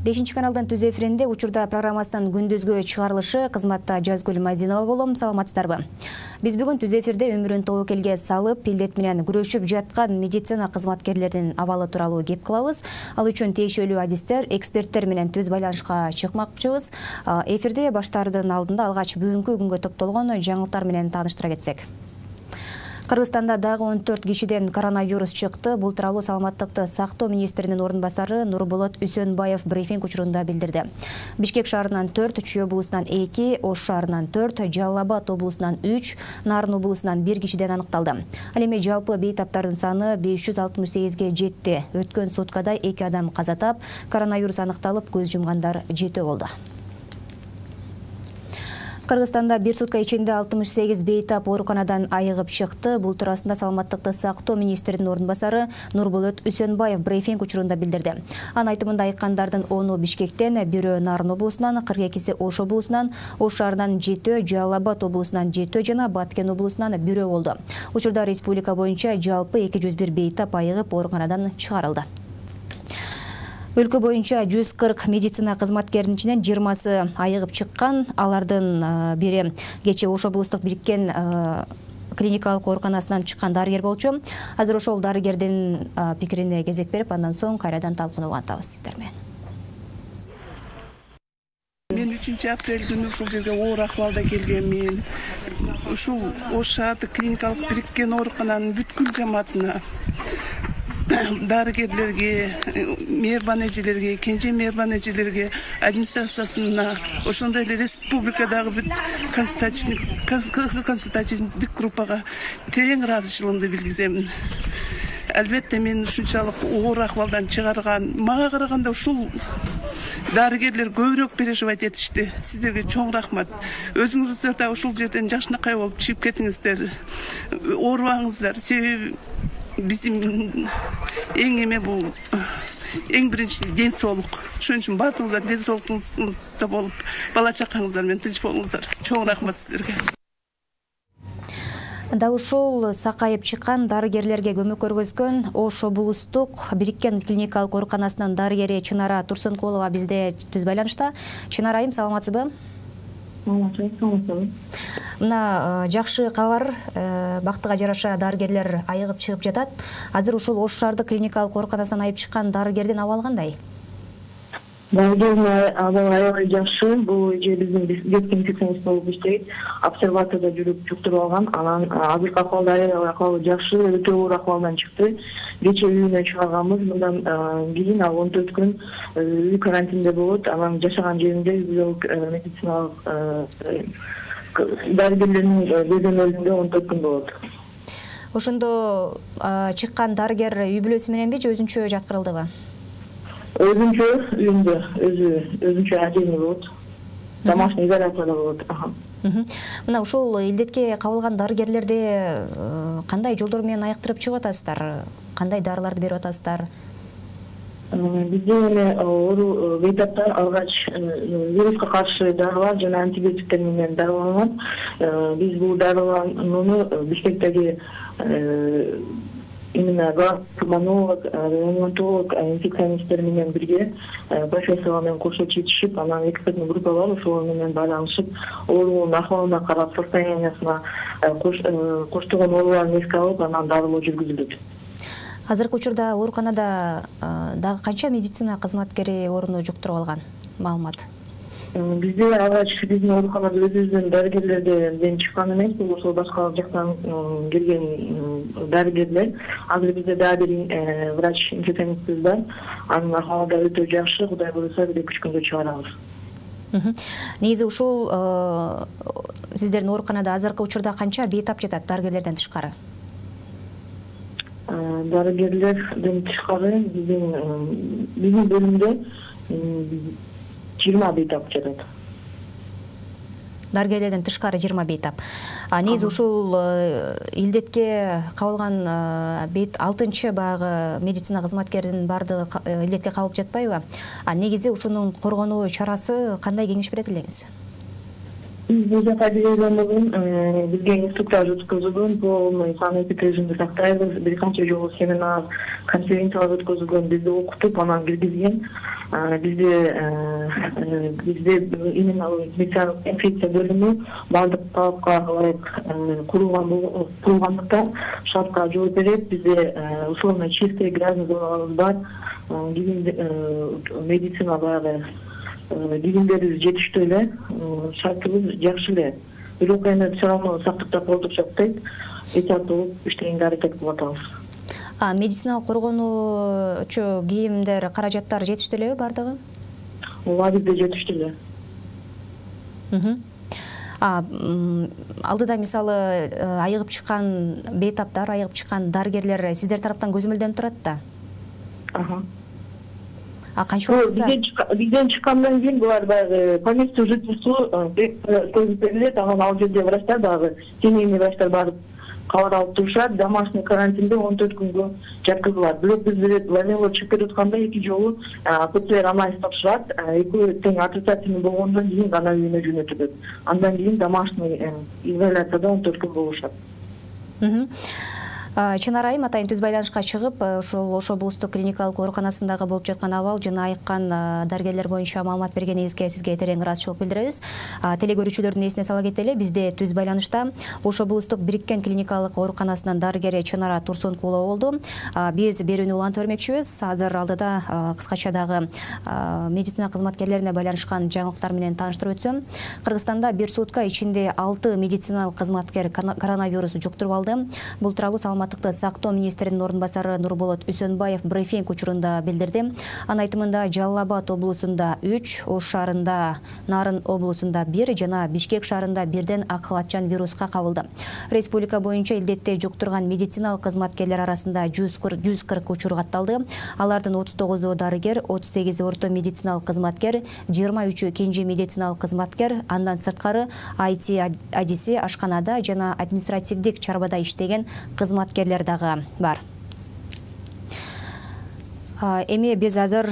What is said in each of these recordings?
5 каналдан түз эфиринде учурда программасынын күндүзгү чыгарылышы кызматта Жазгүл Мадинова болом. Саламатсыздарбы? Биз бүгүн түз эфирде өмүрүн тобокелге салып, илдет менен күрөшүп жаткан медицина кызматкерлеринин абалы тууралуу кеп кылабыз. Ал үчүн тиешелүү адистер, эксперттер менен түз байланышка чыкмакчыбыз. Эфирде баштаардын алдында алгач бүгүнкү күнгө топтолгон жаңылыктар менен тааныштыра кетсек. Кыргызстанда дагы 14 кишиден коронавирус чыкты. Бул тууралуу саламаттыкты сактоо министринин орун басары Нурболот Үсөнбаев брифинг учурунда билдирди. Бишкек шаарынан 4, Чүй облусунан 2, Ош шаарынан 4, Жалал Абад облусунан 3, Нарын облусунан 1 кишиден аныкталды. Ал эми жалпы бейтаптардын саны 568ге жетти. Өткөн суткада 2 адам каза тап, коронавирус аныкталып, көз жумгандар 7 болду. Кыргызстанда бир сутка ичинде 68 бейтап ооруканадан айыгып чыкты. Бул туурасында саламаттыкты сактоо министринин орун басары Нурболот Үсөнбаев брифинг учурунда билдирди. Анын айтымында айыккандардын 10-у Бишкектен, 1-өө Нарын облусунан, 42-си Ош облусунан, Ош шаарынан 7-өө, Жалал Абад облусунан 7-өө жана Баткен облусунан 1-өө болду. Учурда республика боюнча жалпы 201 бейтап айыгып ооруканадан чыгарылды. Өлкө боюнча 140 медицина кызматкеринин ичинен 20сы айыгып чыккан. Алардын бири кечээ Ош облустук бириккен клиникалык ооруканасынан чыккан дарыгер болчу. Азыр ошол дарыгердин пикирине кезек берип, андан соң кайрадан талкууну улантабыз сиздер менен. Мен 3-апрель күнү ушул жерге оор акыбалда келгенмин. Ушул Ош шаардык клиникалык бириккен оорукананын бүткүл жамаатына, дарыгерлерге, мээрбан эжелерге, кенже мээрбан эжелерге, администрациясына, ошондой эле республикадагы бүт консультативдик группага терең ыраазычылыгымды билгиземин. Албетте мен ушунчалык оор акыбалдан чыгарган, мага караганда ушул дарыгерлер көбүрөөк переживать этишти. Сиздерге чоң рахмат. Өзүңүздөр да ушул жерден жакшынакай болуп чыгып кетиңиздер. Оорубаңыздар. Себеби биздин эң эме бул эң биринчи ден соолук. Ошон үчүн баардыгыңыздар ден соолугуңузда болуп, бала чакаңыздар менен тынч болуңуздар. Чоң рахмат сиздерге. Дал ушул сакайып чыккан дарыгерлерге көмөк көргөзгөн Ош облустук бириккен клиникалык ооруканасынын дарыгери Чынара Турсункулова бизде түз байланышта. Чынара айым, саламатсызбы? Мына жакшы кабар, бактыга жараша дарыгерлер айыгып чыгып жатат. Азыр ушул Ош шаардык клиникалык ооруканасынан айыгып чыккан дарыгердин абалы кандай? Дарыгердин абалы аябай жакшы. Бул же биздин детский инфекционист болуп иштейт. Обсерваторда жүрүп жуктуруп алган. Анан азыркы акыбалда аябай акыбалы жакшы, өтө оор акыбалдан чыкты. Кечээ үйүнө чыгарганбыз. Мындан кийин ал 14 күн үй карантинде болот. Анан жашаган жеринде медициналык дарыгерлердин көзөмөлүндө 14 күн болот. Ошондо чыккан дарыгер үй бүлөсү мененби же өзүнчө жаткырылдыбы? Өзүнчө үйүндө, өзүнчө ажене болот. Домашний изоляцияда болот. Мына ушул илдетке кабылган дарыгерлерди кандай жолдор менен айыктырып чыгып атасыздар? Кандай дарыларды берип атасыздар? Бизде эми бейтаптар алгач вируска каршы дарылар жана антибиотиктер менен дарыланат. Биз бул дарыланууну Бишкектеги именно пульмонолог, реаниматолог, инфекционисттер менен бирге профессорлор менен кошо чечишип, анан экспертный группа бар, ошол менен байланышып, оорунун ахыбалына карап, состояниясына коштогон ооруларын эске алып, анан дарылоо жүргүзүлөт. Азыркы учурда ооруканада дагы канча медицина кызматкери ооруну жуктуруп алган? Маалымат. Бизде алгач биздин ооруканада өзүбүздүн дарыгерлерден чыккан эмес, бул ошол башка жактан келген дарыгерлер. Азыр бизде дагы бир врач-инфекционистибиз бар. Анын акыбалы да өтө жакшы, Кудай буйруса 1-2 күндө чыгарабыз. Негизи ушул сиздердин ооруканада азыркы учурда канча бейтап жатат дарыгерлерден тышкары? Дарыгерлерден тышкары биздин бөлүмдө 20 бейтап жатат. Дарыгерлерден тышкары 20 бейтап. Негизи ушул илдетке кабылган 6-чы багы медицина кызматкеринин бардыгы илдетке кабылып жатпайбы? Негизи ушунун коргонуу чарасы кандай кеңеш берет элеңиз? Биз жапайрылган бизге инструктаж өткөзүлгөн, полный санитардык режимди сактайбыз, бир канча жолу семинар, конференциялар өткөзүлгөн, бизди окутуп, анан киргизген. Бизде именно медициналык инфекция бөлүмү бардык талапка ылайык курулгандыктан шартка жооп берет. Бизде условно чистый грязный зоналарыбыз бар, медицина баягы кийимдерибиз жетиштүү эле, шартыбыз жакшы эле. Бирок эми все равно сактыкта колдук жакпайт, эhtiyat болуп иштегенге аракет кылып атабыз. Медициналык коргонуучу кийимдер, каражаттар жетиштүү элеби бардыгы? Ооба, бизде жетиштүү эле. Алдыда мисалы айыгып чыккан бейтаптар, айыгып чыккан дарыгерлер сиздер тараптан көзөмөлдөнүп турат да? Канча убакытта? Бизден чыккандан кийин булар баягы поместье жительству көзүп берилет, анан ал жерде врачтар баягы семейный врачтар барып кабар алып турушат, домашний карантинде 14 күнгө жаткызылат. Бирок биз лавело чыгып кетатканда 2 жолу ПЦР анализ тапшырат, экөө тең отрицательный болгондон кийин гана үйүнө жөнөтүлөт. Андан кийин домашний изоляцияда 14 күн болушат. Чынар айым атайын түз байланышка чыгып, ошол Ош облустук клиникалык ооруканасындагы болуп жаткан абал жана айыккан дарыгерлер боюнча маалымат бергениңизге сизге терең ыраазычылык билдиребиз. Телекөрүүчүлөрдүн эсине сала кетели, бизде түз байланышта Ош облустук бириккен клиникалык ооруканасынын дарыгери Чынара Турсункулова болду. Биз берүүнү улантып бермекчибиз. Азыр алдыда кыскача дагы медицина кызматкерлерине байланышкан жаңылыктар менен тааныштырып өтсөм, Кыргызстанда бир сутка ичинде 6 медициналык кызматкер коронавирус жуктуруп алды. Бул тууралуу Саламаттыкты сактоо министринин орун басары Нурболот Үсөнбаев брифинг учурунда билдирди. Анын айтымында Жалал Абад облусунда 3, Ош шаарында, Нарын облусунда 1 жана Бишкек шаарында бирден акылатчан вируска кабылды. Республика боюнча илдетти жуктурган медициналык кызматкерлер арасында 140 учур катталды. Алардын 39-у дарыгер, 38 орто медициналык кызматкер, 23 кенже медициналык кызматкер, андан сырткары IT адиси, ашканада жана административдик чарбада иштеген кызматкерлер дагы бар. Эми биз азыр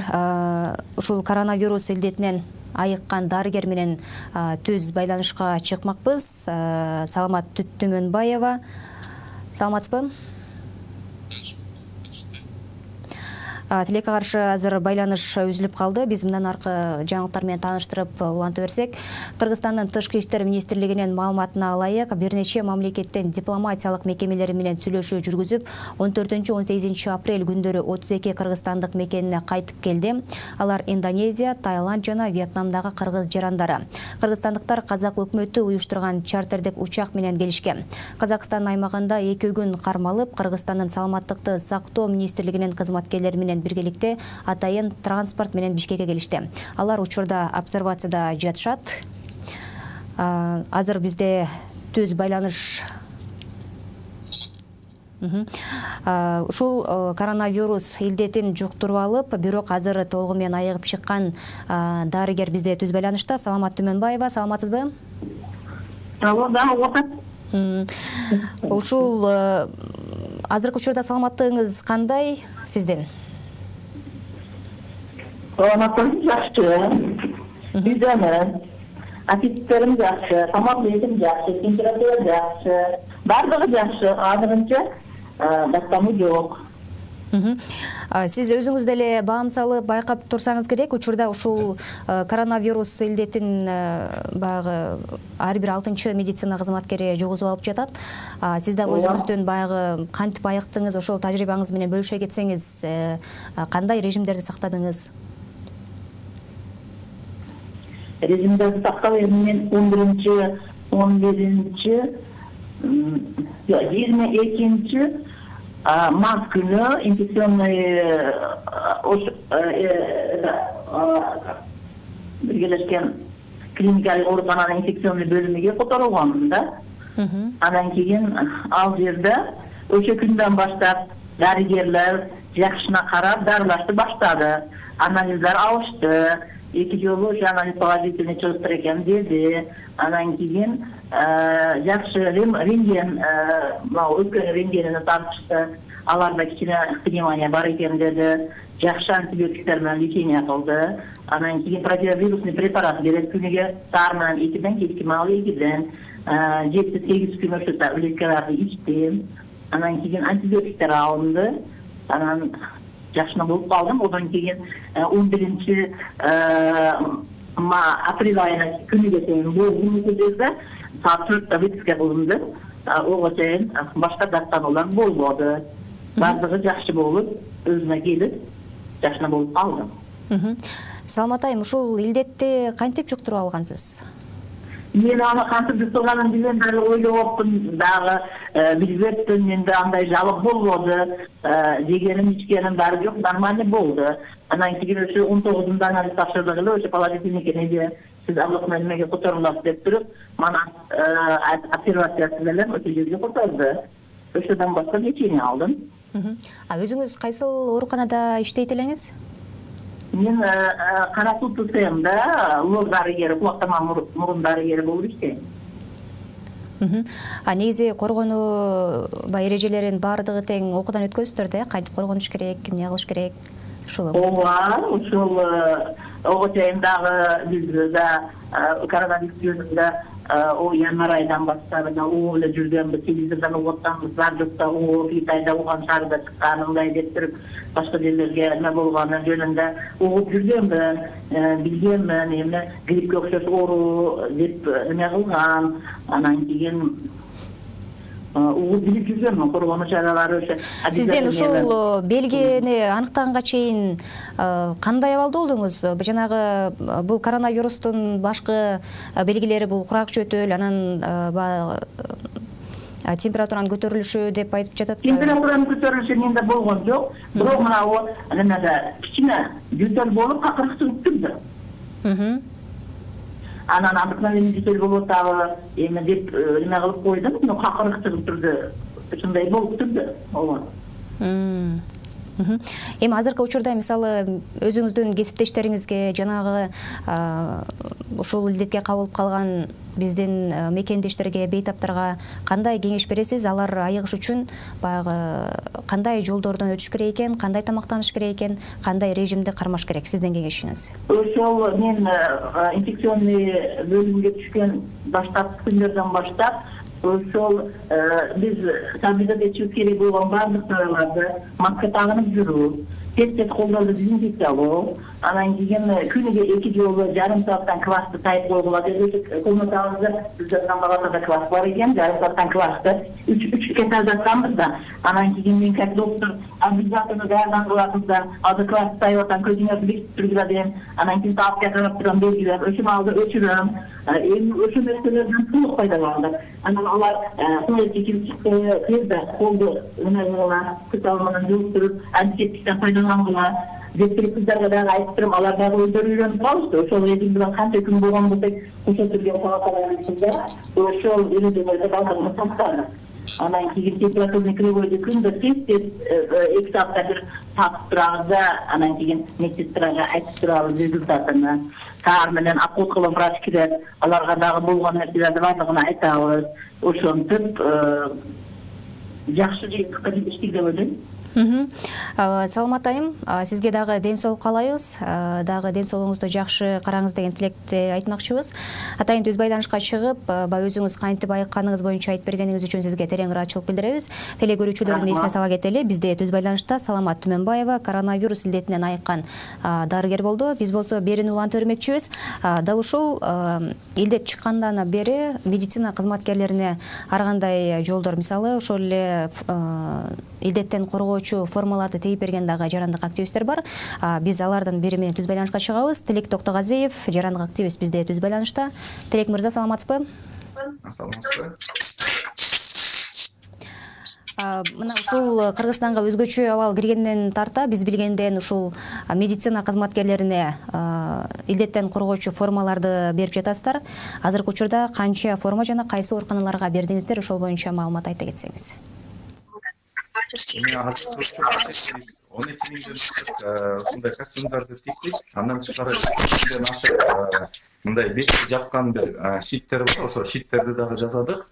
ушул коронавирус илдетинен айыккан дарыгер менен түз байланышка чыкмакпыз. Саламат Түмөнбаева. Саламатсызбы? Тилекке каршы азыр байланыш үзүлүп калды. Биз мындан аркы жаңылыктар менен тааныштырып улантып берсек, Кыргызстандын Тышкы иштер министрлигинин маалыматына ылайык, бир нече мамлекеттин дипломатиялык мекемелери менен сүйлөшүү жүргүзүп, 14-18 апрель күндөрү 32 кыргызстандык мекенине кайтып келди. Алар Индонезия, Таиланд жана Вьетнамдагы кыргыз жарандары. Кыргызстандыктар казак өкмөтү уюштурган чартердик учак менен келишкен. Казакстан аймагында 2 күн кармалып, Кыргызстандын Саламаттыкты сактоо министрлигинин кызматкерлери менен биргеликте атайын транспорт менен Бишкекке келишти. Алар учурда обсервацияда жатышат. Азыр бизде түз байланыш. Ушул коронавирус илдетин жуктуруп алып, бирок азыр толугу менен айыгып чыккан дарыгер бизде түз байланышта. Саламат Түмөнбаева, саламатсызбы? Ушул азыркы учурда саламаттыгыңыз кандай сиздин? Саламаттыгым жакшы. Бизден аппетиттерим жакшы, тамак жейтим жакшы, температура жакшы, бардыгы жакшы. Азырынча даттамы жок. Сиз өзүңүз деле баам салып байкап турсаңыз керек. Учурда ушул коронавирус илдетин баягы ар бир 6-чы медицина кызматкери жугузуп алып жатат. Сиз дагы өзүңүздүн баягы кантип айыктыңыз, ошол тажрыйбаңыз менен бөлүшө кетсеңиз, кандай режимдерди сактадыңыз? Режимдерди сактап мен 11-чи, 11-чи, 22-чи март күнү инфекционный биргелешкен клиникалык оорукананын инфекционный бөлүмүгө которулгонмун да. Андан кийин ал жерде ошо күндөн баштап дарыгерлер жакшына карап дарылашты баштады. Анализдер алышты. 2 жолу анализ положительный чыгыптыр экен деди. Андан кийин жакшы рентген, өткөн рентгенini тартышты. аларда кичине пневмония бар экен деди. Жакшы антибиотиктер менен лечение кылды. Анан кийин противовирусный препарат берет күнүгө саар менен 2ден кечки маалы 2ден 7-8 күн ошо таблеткаларды ичтим. Анан кийин антибиотиктер алынды. Анан жакшы болуп калдым. Одан кийин 11 апрель айына күнүгө чейин болгон жерде саат 4 выписка кылынды. Ого чейин башка даттануулар болбоду. Бардыгы жакшы болуп, өзүнө келип, жакшы болуп калдым. Саламат айым, ушул илдетти кантип жуктуруп алгансыз? Мен аны кантип жуктурганын билем, дагы ойлоптум, дагы билбептим, менде андай жалып болбоду, жегеним ичкеним баары жок, нормально болду. Анан кийин ошо 19-да анализ тапшырдык эле, ошо положительный экен, сиз аблыкмай немеге которуласыз деп туруп, мана обсервациясы менен ошо жерге которду. Ошодон башка лечение алдым. Өзүңүз кайсыл ооруканада иштейт элеңиз? Мен Кара Суу ТСМда лор дарыгери, кулактама мурун дарыгери болуп иштейм. Негизи коргонуу эрежелерин баардыгы тең окуудан өткөзсүздөр да, кантип коргонуш керек, эмне кылыш керек? Ооба, ушул ого чейин дагы биз да коронавирус жөнүндө январь айдан баштап угуп эле жүргөнбүз, телевизордон угуп атабыз, радиода угуп, Китайда уган шаарда чыккан, мындай деп туруп, башка жерлерге эме болгону жөнүндө угуп жүргөнмүн, билгенмин, эмне гриппке окшош оору деп эме кылган, анан кийин угуп билип жүргөнмүн, коргонуу чаралары ошо. Сизден ушул белгини аныктаганга чейин кандай абалда болдуңуз? Жанагы бул коронавирустун башкы белгилери бул курак чөтүл, анан температуранын көтөрүлүшү деп айтып жатат. Температуранын көтөрүлүшү менде болгон жок, бирок мына немеде кичине жөтөл болуп акыркы чыгып турду. Анан обыкновенный жөтөл болуп дагы эме деп эме кылып койдум, но акыркы чыгып турду. Ушундай болуп турду. Ооба. Эми азыркы учурда мисалы өзүңүздүн кесиптештериңизге, жанагы ушул илдетке кабылып калган биздин мекендештерге, бейтаптарга кандай кеңеш бересиз? Алар айыгыш үчүн баягы кандай жолдордон өтүш керек экен, кандай тамактаныш керек экен, кандай режимди кармаш керек? Сиздин кеңешиңиз? Ошол мен инфекционный бөлүмгө түшкөн баштапкы күндөрдөн баштап ошол биз соблюдать этишибиз керек болгон баардык чараларды маска тагынып жүрүү, тез колдорду дезинфекциялоо, анан кийин күнүгө 2 жолу жарым сааттан квасты тайып койгула деп комнатабызда биздин палатада квас бар экен, жарым сааттан квасты 3 кете жатканбыз да, анан кийин мен как доктор обязательно даярдан кылабыз да, азыр квасты тайып атам, көзүңөрдү бекитип тургула дейм, анан кийин таапка карап турам, белгилеп, ошол маалда өчүрөм, эми ошол нерселерден толук пайдаландык. Анан алар тезде колду эме кылгыла, кытал менен жууп туруп, антисептиктен пайдалангыла деп туруп кыздарга дагы айтып турам, алар дагы өздөрү үйрөнүп калышты. Ошол режим менен канча күн болгон болсок, ошо түргө палаталарыбызда ошол эрежелерди калтырып сактадык. Анан кийин температурный кривойду күндө тез 2 саатта бир тапып турабыз да, анан кийин медсестрага айтып турабыз результатын. Саар менен окуткылы врач кирет, аларга дагы болгон нерселерди баардыгын айтабыз. Ошентип жакшы жыйынтыкка жетиштик деп ойлойм. Саламат айым, сизге дагы ден соолук каалайбыз, дагы ден соолугуңузду жакшы караңыз деген тилекти айтмакчыбыз. Атайын түз байланышка чыгып, өзүңүз кантип айыкканыңыз боюнча айтып бергениңиз үчүн сизге терең ыраачылык билдиребиз. Теле көрүүчүлөрдүн эсине сала кетели, бизде түз байланышта Саламат Түмөнбаева коронавирус илдетинен айыккан дарыгер болду. Биз болсо берүүнү улантып өрмөкчүбүз. Дал ушул илдет чыккандан бери медицина кызматкерлерине ар кандай жолдор, мисалы ошол эле илдеттен коргоочу формаларды тегип берген дагы жарандык активисттер бар. Биз алардын бири менен түз байланышка чыгабыз. Тилек Токтогазиев, жарандык активист, бизде түз байланышта. Тилек мырза, саламатсызбы? Саламатсызбы. Мына ушул Кыргызстанга өзгөчө абал киргенден тарта биз билгенден ушул медицина кызматкерлерине илдеттен коргоочу формаларды берип жатасыздар. Азыркы учурда канча форма жана кайсы ооруканаларга бердиңиздер, ошол боюнча маалымат айта кетсеңиз. 12 миңден костюмдарды тиктик, андан тышкары 200ден ашык мындай бетти жапкан бир шиттер бар, ошол шиттерди дагы жасадык.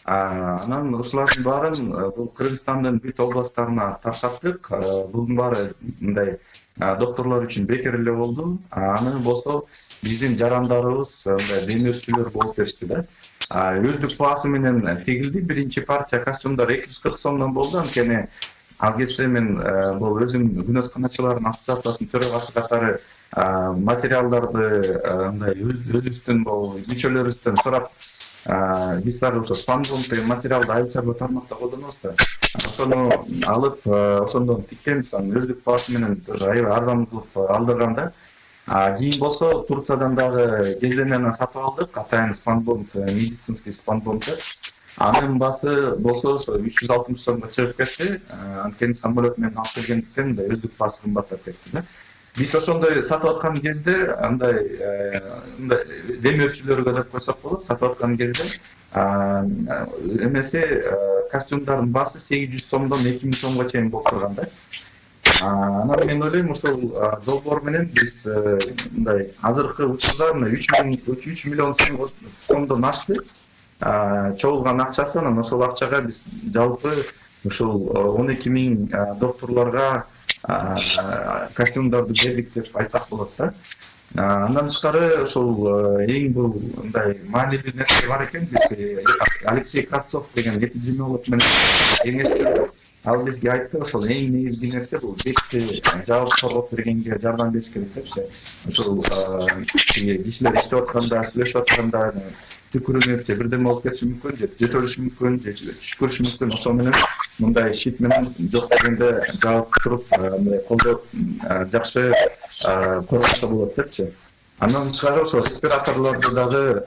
Анан ушулардын баарын бул Кыргызстандын бүт областтарына таркаттык. Bunun баары мындай докторлор үчүн бекер эле болду. Аны болсо биздин жарандарыбыз мындай демөөрчүлөр болуп беришти да. Өздүк баасы менен тегилди. Биринчи партия костюмдар 240 сомдон болду. Анткени ал кезде мен бул өзүм күнөсканачылардын ассоциациясынын төрагасы катары материалдарды мындай өзүбүздүн бул мүчөлөрүбүздөн сурап биз дагы ошо спанбонд деген материалды айрыкча бир тармакта колдонобуз да. Ошону алып ошондон тиктебиз. Өздүк баасы менен аябай арзан кылып алдырганда. Кийин болсо Турциядан дагы кездемени сатып алдык. Атайын спанбонд, медицинский спанбонд. Анын баасы болсо ошо 360 сомго чыгып кетти. Анткени самолет менен алып келгендиктен өздүк баасы кымбаттап кетти да. Биз ошондой сатып аткан кезде андай демөөрчүлөргө деп койсок болот. Сатып аткан кезде эмеси костюмдардын баасы 800 сомдон 2000 сомго чейин болуп турган да. Анан мен ойлойм ошол долбоор менен биз мындай азыркы учурда 3 миллион сомдон ашты. Чогулган акчасы, анан ошол акчага биз жалпы ушул 12 000 докторлорго костюмдарды бердик деп айтсак болот да. Андан тышкары ошол эң бул мындай маанилүү нерсе бар экен. Биз Алексей Кравцов деген эпидемиолог менен кеңештик. Ал бизге айтты, ошол эң негизги нерсе бул бетти жабып коргоп бергенге жардам бериш керек депчи. Ошол кишилер иштеп атканда, сүйлөшүп атканда түкүрүнүп же бирдеме болуп кетиши мүмкүн, же жөтөлүшү мүмкүн, же түшкүрүшү мүмкүн. Ошол менен мындай шит менен жок дегенде жабып туруп, мындай колдоп жакшы коргошко болот депчи. Андан тышкары ошол респираторлорду дагы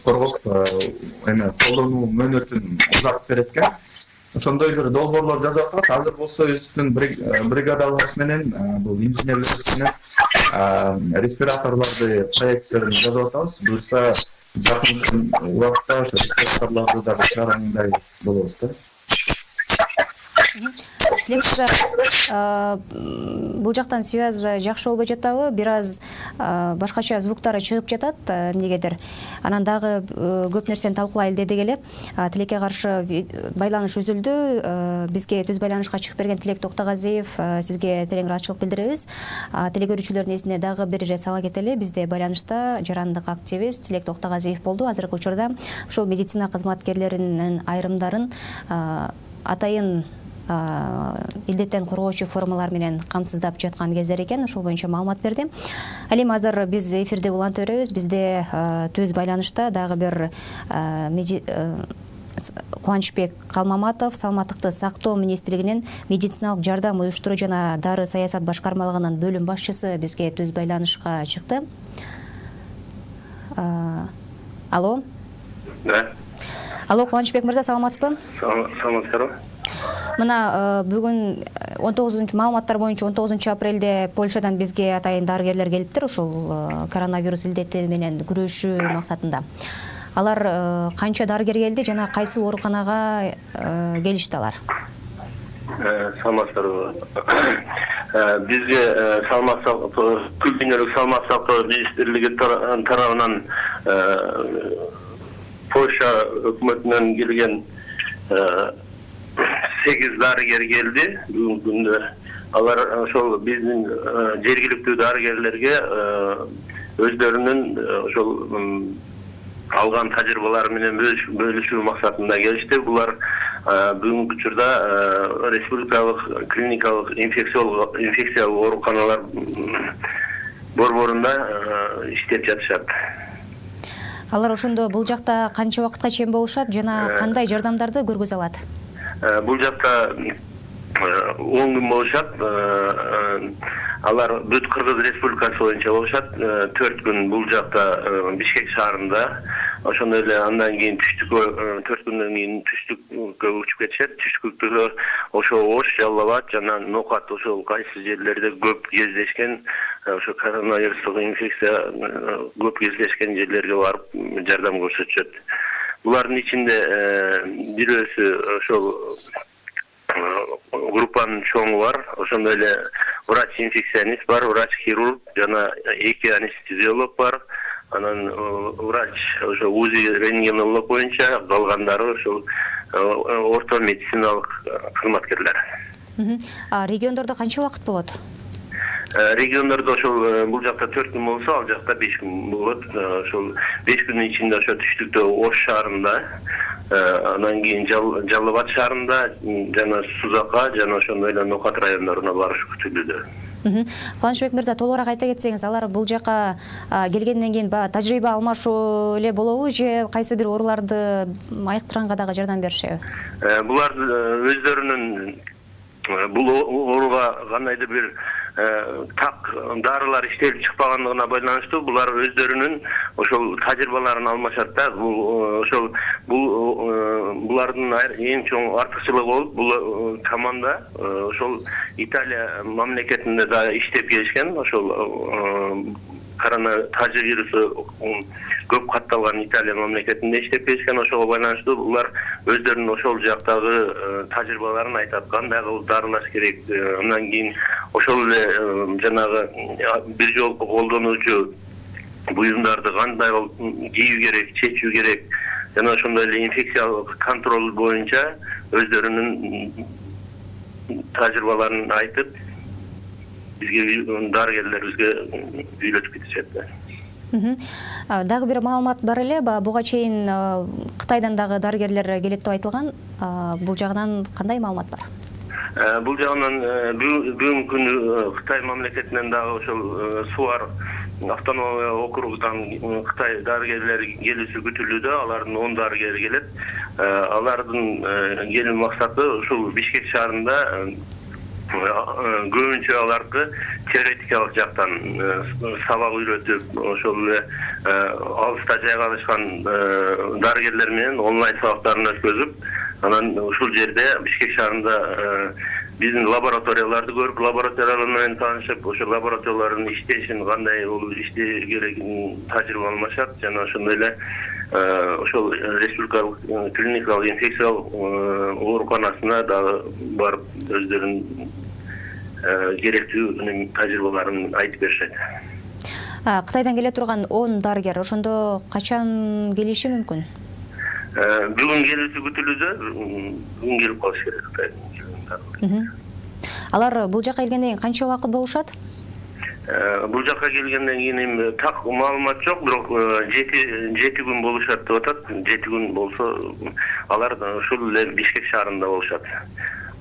коргоп, колдонуу мөөнөтүн узартып берет экен. Ошондой бир долбоорлор жазып атабыз. Азыр болсо өзүбүздүн бригадаларыбыз менен, бул инженерлерибиз менен респираторлорду проекттерин жазып атабыз. Буюрса жакын убакытта ошо респираторлорду дагы чыгаргандай болобуз да. Тилек мырза, бул жактан связь жакшы болбой жатабы? Бир аз башкача звуктары чыгып жатат эмнегедир. Анан дагы көп нерсени талкуулайлы дедик эле. Тилекке каршы байланыш үзүлдү. Бизге түз байланышка чыгып берген Тилек Токтогазиев, сизге терең ыраазычылык билдиребиз. Тилек көрүүчүлөрдүн эсине дагы бир ирет сала кетели. Бизде байланышта жарандык активист Тилек Токтогазиев болду. Азыркы учурда ушул медицина кызматкерлеринин айрымдарын атайын илдеттен коргоочу формалар менен камсыздап жаткан кездер экен. Ошол боюнча маалымат берди. Ал эми азыр биз эфирде улантып беребиз. Бизде түз байланышта дагы бир Кубанычбек Калмаматов, Саламаттыкты сактоо министрлигинин медициналык жардам уюштуруу жана дары саясат башкармалыгынын бөлүм башчысы бизге түз байланышка чыкты. Алло. Да. Алло, Кубанычбек мырза, саламатсызбы? Саламатсыздарбы? Мына бүгүн 19 маалыматтар боюнча 19 апрелде Польшадан бизге атайын дарыгерлер келиптир, ушул коронавирус илдети менен күрөшүү максатында. Алар канча дарыгер келди жана кайсы ооруканага келишти алар? Саламатсыздарбы? Бизге Күл дүйнөлүк саламаттык сактоо министрлиги тарабынан Польша өкмөтүнөн келген 8 дарыгер келди бүгүнкү күндө. Алар ошол биздин жергиликтүү дарыгерлерге өздөрүнүн ошол алган тажрыйбалары менен бөлүшүү максатында келишти. Булар бүгүнкү учурда республикалык клиникалык инфекциялык ооруканалар борборунда иштеп жатышат. Алар ошондо бул жакта канча убакытка чейин болушат жана кандай жардамдарды көргөзө алат? Бул жакта 10 күн болушат. Алар бүт Кыргыз Республикасы боюнча болушат. 4 күн бул жакта Бишкек шаарында. Ошондой эле андан кийин түштүккө 4 күндөн кийин түштүккө учуп кетишет. Түштүктө ошо Ош, Жалал абад жана Нокат ошол кайсы жерлерде көп кездешкен, ошо коронавирустук инфекция көп кездешкен жерлерге барып жардам көрсөтүшөт. Булардын ичинде бирөөсү ошол группанын чоңу бар, ошондой эле врач-инфекционист бар, врач-хирург жана 2 анестезиолог бар. анан врач ошо УЗИ рентгенолог боюнча, калгандары ошол орто медициналык кызматкерлер. Региондордо канча убакыт болот? Региондордо ошол бул жакта 4 күн болсо, ал жакта 5 күн болот. Ошол 5 күндүн ичинде ошо түштүктө Ош шаарында, анан кийин Жалал Абад шаарында жана Сузака жана ошондой эле Нокат райондоруна барыш күтүлүүдө. Кубанычбек мырза, толугураак айта кетсеңиз, алар бул жака келгенден кийин баягы тажрыйба алмашуу эле болобу же кайсы бир ооруларды айыктырганга дагы жардам беришеби? Булар өздөрүнүн бул ооруга кандайдыр бир так дарылар иштелип чыкпагандыгына байланыштуу булар өздөрүнүн ошол тажрыйбаларын алмашат да. Ошол булардын эң чоң артыкчылыгы болуп, бул команда ошол Италия мамлекетинде да иштеп келишкен. Ошол тажы вирусу көп катталган Италия мамлекетинде иштеп келишкен. Ошого байланыштуу булар өздөрүнүн ошол жактагы тажрыйбаларын айтат. Кандай кылып дарылаш керек, андан кийин ошол эле жанагы бир жолку колдонуучу буюмдарды кандай кылып кийүү керек, чечүү керек, жана ошондой эле инфекциялык контроль боюнча өздөрүнүн тажрыйбаларын айтып, бизге дарыгерлерибизге үйлөтүп кетишет. Дагы бир маалымат бар эле, буга чейин Кытайдан дагы дарыгерлер келет деп айтылган. Бул жагынан кандай маалымат бар? Бул жагынан бүгүнкү күнү Кытай мамлекетинен дагы ошол Суар автономия округунан Кытай дарыгерлери келүүсү күтүлүүдө. Алардын 10 дарыгери келет. Алардын келүү максаты ушул Бишкек шаарында көбүнчө аларды теоретикалык жактан сабак үйрөтүп, ошол эле алыста жайгашкан дарыгерлер менен онлайн сабактарын өткөзүп, анан ушул жерде Бишкек шаарында биздин лабораторияларды көрүп, лабораториялар менен таанышып, ошол лабораториялардын иштешин, кандай болуп иштеш керегин тажрыйба алмашат, жана ошондой эле ошол республикалык клиникалык инфекциялык ооруканасына дагы барып өздөрүнүн керектүү тажрыйбаларын айтып беришет. Кытайдан келе турган 10 дарыгер ошондо качан келиши мүмкүн? Бүгүн келүүсү күтүлүүдө, бүгүн келип калыш керек Кытайдан. Алар бул жака келгенден кийин канча убакыт болушат? Бул жака келгенден кийин так маалымат жок, бирок 7 күн болушат деп атат. 7 күн болсо алар ушул эле Бишкек шаарында болушат.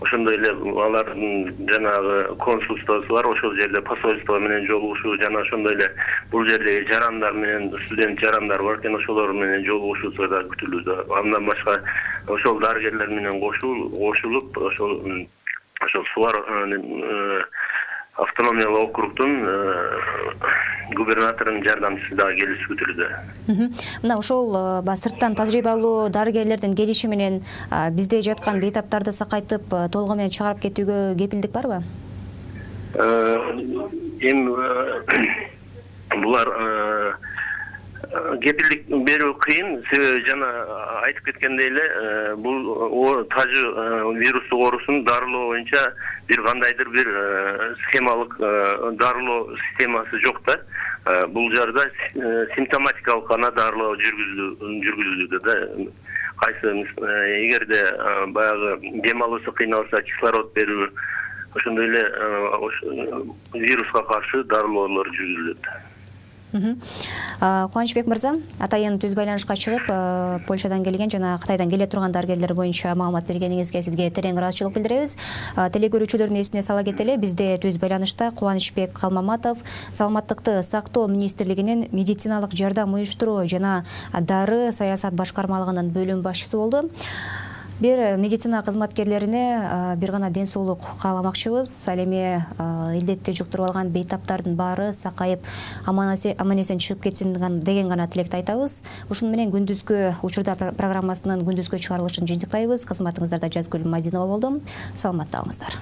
Ошондой эле алардын жанагы консулствосу бар, ошол жерде посольство менен жолугушуу, жана ошондой эле бул жердеги жарандар менен студент жарандар бар экен, ошолор менен жолугушуусу да күтүлүүдө. Андан башка ошол дарыгерлер менен кошулуп, ошол Суар автономиялык округдун губернаторунун жардамчысы дагы келүүсү күтүлүүдө. Мына ошол сырттан тажрыйбалуу дарыгерлердин келиши менен бизде жаткан бейтаптарды сакайтып толугу менен чыгарып кетүүгө кепилдик барбы? Эми булар кепилдик берүү кыйын, себеби жана айтып кеткендей эле бул тажы вирустук оорусун дарылоо боюнча бир кандайдыр бир схемалык дарылоо системасы жок да. Бул жерде симптоматикалык гана дарылоо жүргүзүлүүдө да. Кайсы эгерде баягы дем алуусу кыйналса кислород берүү, ошондой эле вируска каршы дарылоолор жүргүзүлөт. Кубанычбек мырза, атайын түз байланышка чыгып, Польшадан келген жана Кытайдан келе турган дарыгерлер боюнча маалымат бергениңизге сизге терең ыраазычылык билдиребиз. Телекөрүүчүлөрдүн эсине сала кетели, бизде түз байланышта Кубанычбек Калмаматов, Саламаттыкты сактоо министрлигинин медициналык жардам уюштуруу жана дары саясат башкармалыгынын бөлүм башчысы болду. Бир медицина кызматкерлерине бир гана ден соолук кааламакчыбыз. Ал эми илдетти жуктуруп алган бейтаптардын баары сакайып аман эсен чыгып кетсин деген гана тилекти айтабыз. Ушуну менен күндүзгү учурда программасынын күндүзгү чыгарылышын жыйынтыктайбыз. Кызматыңыздарда Жазгүл Мадинова болдум. Саламатта калыңыздар.